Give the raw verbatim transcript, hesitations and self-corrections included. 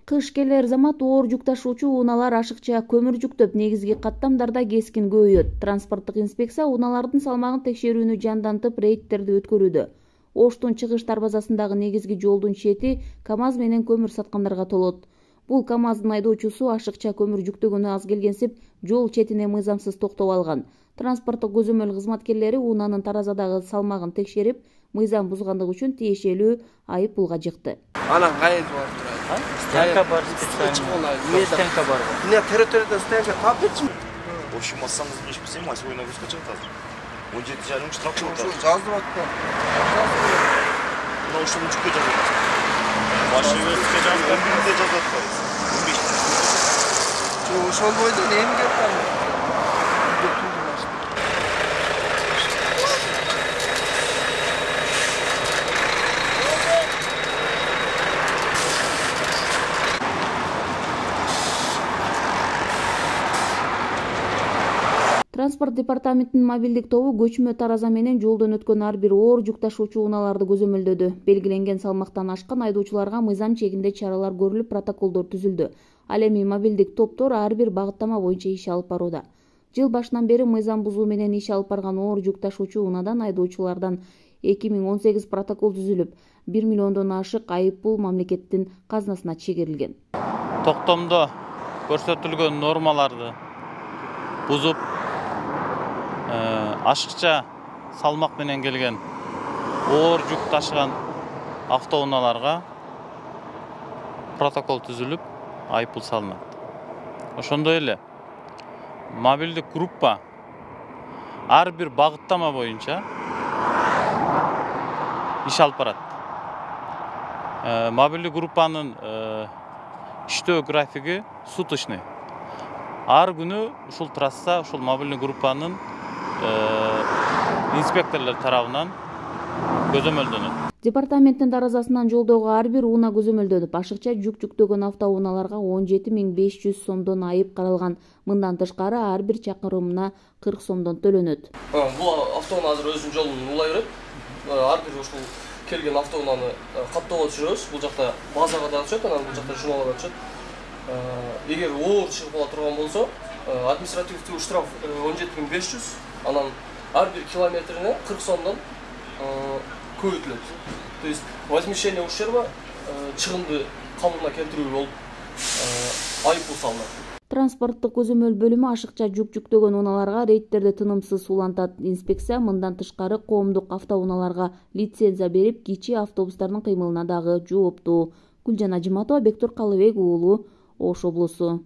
Кыш келер замат оор жүк ташуучу унаалар ашыкча көмүр жүктөп, негизги каттамдарда кескин көбөйөт. Транспорттук инспекция унаалардын салмагын текшерүүнү жандантып, рейдтерди өткөрүүдө. Оштун чыгыш дарбазасындагы негизги жолдун чети КАМАЗ менен көмүр саткандарга толот. Бул КАМАЗдын айдоочусу ашыкча көмүр жүктөгөнү аз келгенсип, жол четине мыйзамсыз токтоп алган. Транспорттук көзөмөл кызматкерлери унаанын таразадагы салмагын текшерип, мыйзам бузгандыгы үчүн тиешелүү айып пулга жыкты. Анан кайсы барып турат? Стенка бар, специально. Эмне стенка бар? Эмне территорияда стенка таап кетчиби? Общий массаңыз нече болсо, май свой нагрузка чыгат азыр. он жети жарым штраф чыгат. Ошо жазып атты. Мына ушул жүккө жазып атат. Машинистке жазып, он бирде жазып атат. он беш. Ошол бойдон эмне кеттем? Транспорт департаментинин мобилдик тобу көчмө тараза менен жолдон өткөн ар бир оор жүк ташуучу унааларды көзөмөлдөдү. Белгиленген салмактан ашкан айдоочуларга мыйзам чегинде чаралар көрүлүп, протоколдор түзүлдү. Ал эми мобилдик топтор ар бир багыттама боюнча иш алып барууда. Жыл башынан бери мыйзам бузуу менен иш алып барган оор жүк ташуучу унаадан айдоочулардан эки миң он сегиз протокол түзүлүп, бир миллиондон ашык айып пул мамлекеттин казынасына чегерилген. Токтомдо көрсөтүлгөн нормаларды бузуп, ашыкча салмак менен келген оор жүк ташыган автоунааларга протокол түзүлүп, айып пул салынат. Ошондой эле мобилдик группа ар бир багыттама боюнча иш алып барат. Мобилдик группанын иштөө графиги суточный. Ар күнү ушул трасса, ушул мобилдик группанын инспекторлор тарабынан көзөмөлдөнөт. Департаменттин таразасынан жолдогу ар бир унаа көзөмөлдөнүп, ашыкча жүк жүктөгөн автоунааларга он жети миң беш жүз сомдон айып каралган. Мындан тышкары ар бир чакырымына кырк сомдон төлөнөт. Бул автоунаа азыр өзүнүн жолун улай берет. Ар бир ушул келген автоунааны каттоого түшүрөбүз. Бул жакта базага да түшөт, анан бул жакта журналга түшөт. Эгер оор чыгып кала турган болсо, административдүү штраф он жети миң беш жүз, анан ар бир километрине кырк сомдон көбөйтүлөт. То есть возмещение ущерба чыгымды калыбына келтирүү болуп айып пул салынат. Транспорттук көзөмөл бөлүмү ашыкча жүк жүктөгөн унааларга рейдтерди тынымсыз улантат. Инспекция мындан тышкары коомдук автоунааларга лицензия берип, кичи автобустардын кыймылына дагы жооптуу. Гүлжан Ажиматова, Бектур Калыбек уулу, Ош облусу.